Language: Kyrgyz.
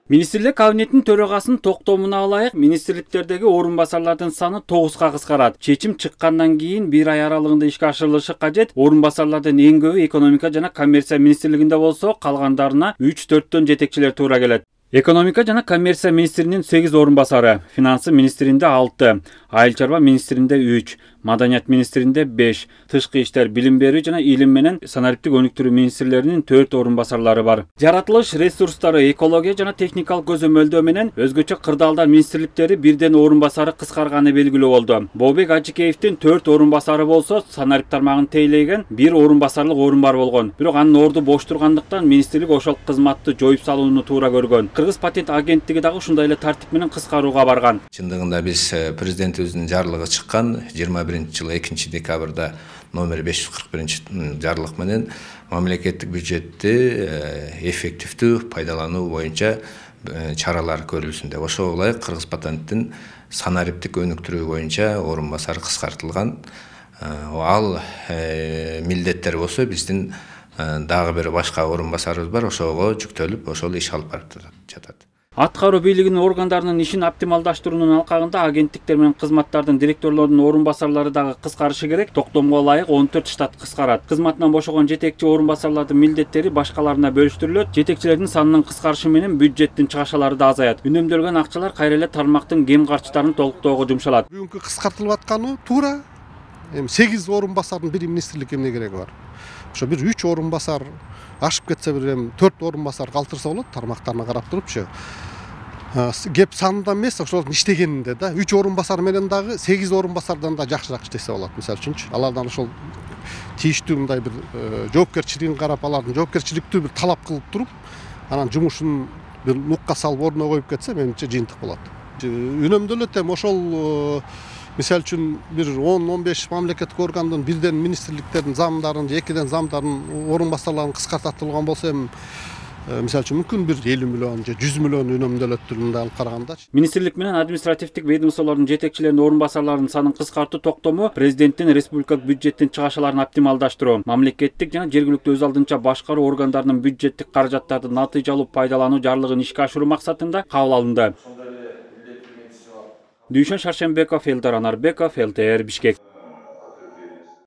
Министрлер кабинеттин төрагасынын токтомуна ылайык министрликтердеги орун басарлардын саны 9га кыскарат. Чечим чыккандан кийин 1 ай аралыгында ишке ашырылышы кажет. Орун басарлардын эң көбү экономика жана коммерция министрлигинде болсо, калгандарына 3-4төн жетекчилер туура келет. Экономика жана коммерция министринин 8 орун басары, финансы министринде 6, айыл чарба министринде 3, маданият министринде 5, тышкы иштер, билим берүү жана илим менен санариптик өнүктүрүү министрлеринин 4 орун басарлары бар. Жаратылыш ресурстары, экология жана техникалык көзөмөлдөө менен өзгөчө кырдаалдар министрликтери бирден орун басары кыскарганы белгилүү болду. Бообек Ажыкеевдин 4 орун басары болсо, санарип тармагын тейлеген 1 орун басарлык орун бар болгон. Бирок анын орду бош тургандыктан министрлик ошол кызматты жоюп салууну туура көргөн. Кыргыз патент агенттиги дагы ушундай эле тартип менен кыскарууга барган. Чындыгында биз президентибиздин жарлыгы чыккан 21-жылы 2-декабрда номер 541 жарлык менен мамлекеттик бюджетти эффективдүү пайдалануу боюнча чаралар көрүлсүн деп. Ошого ылайык Кыргыз патенттин санариптик өнүктүрүү боюнча орун басары кыскартылган. Ал милдеттер болсо биздин дагы бир башка орун басарыбыз бар, ошого жүктөлүп, ошол иш алып барып жатат. Аткаруу бийлигинин органдарынын ишин оптималдаштыруунун алкагында агенттиктер менен кызматтардын директорлорунун орун басарлары дагы кыскарышы керек. Токтомго ылайык 14 штат кыскарат. Кызматынан бошогон жетекчи орун басарлардын милдеттери башкаларына бөлүштүрүлөт. Жетекчилердин санынын кыскарышы менен бюджеттин чыгашалары да азаят. Үнөмдөлгөн акчалар кайра эле тармактын кем карчтарын толуктоого жумшалат. Бүгүнкү кыскартылып атканы туура. 8 орун басардын бир министрликке эмне кереги бар? Ошо бир 3 орун басар ашып кетсе, бир 4 орун басар калтырса болот, тармактарына карап турупчу. Кеп санында эмес, ошолордун иштегенинде да. 3 орун басар менен дагы 8 орун басардан да жакшыраак иштесе болот. Мисалы үчүнчү, алардан ошол тийиштүү мындай бир жоопкерчилигин карап, алардын жоопкерчиликтүү бир талап кылып туруп, анан жумушун бир нукка салып ордуна коюп кетсе, менимче жыйынтык болот. Үнөмдөлөт эми ошол мисалы үчүн бир 10-15 мамлекеттик органдын бирден министрликтердин замдарын, же 2ден замдарын орун басарларын кыскартылган болсо, эми мисалы үчүн мүмкүн бир 50 миллион же 100 миллион үнөмдөлөт түрүндө алып караганда. Министрлик менен административдик ведомстволордун жетекчилеринин орун басарларынын санын кыскартуу токтому президенттин республикалык бюджеттин чыгашаларын оптималдаштыруу, мамлекеттик жана жергиликтүү өз алдынча башкаруу органдарынын бюджеттик каражаттарды натыйжалуу пайдалануу жарлыгын ишке ашыруу максатында кабыл алынды. Дүйшөн Шаршембеков, Элдар Анарбеков, ЛТР, Бишкек.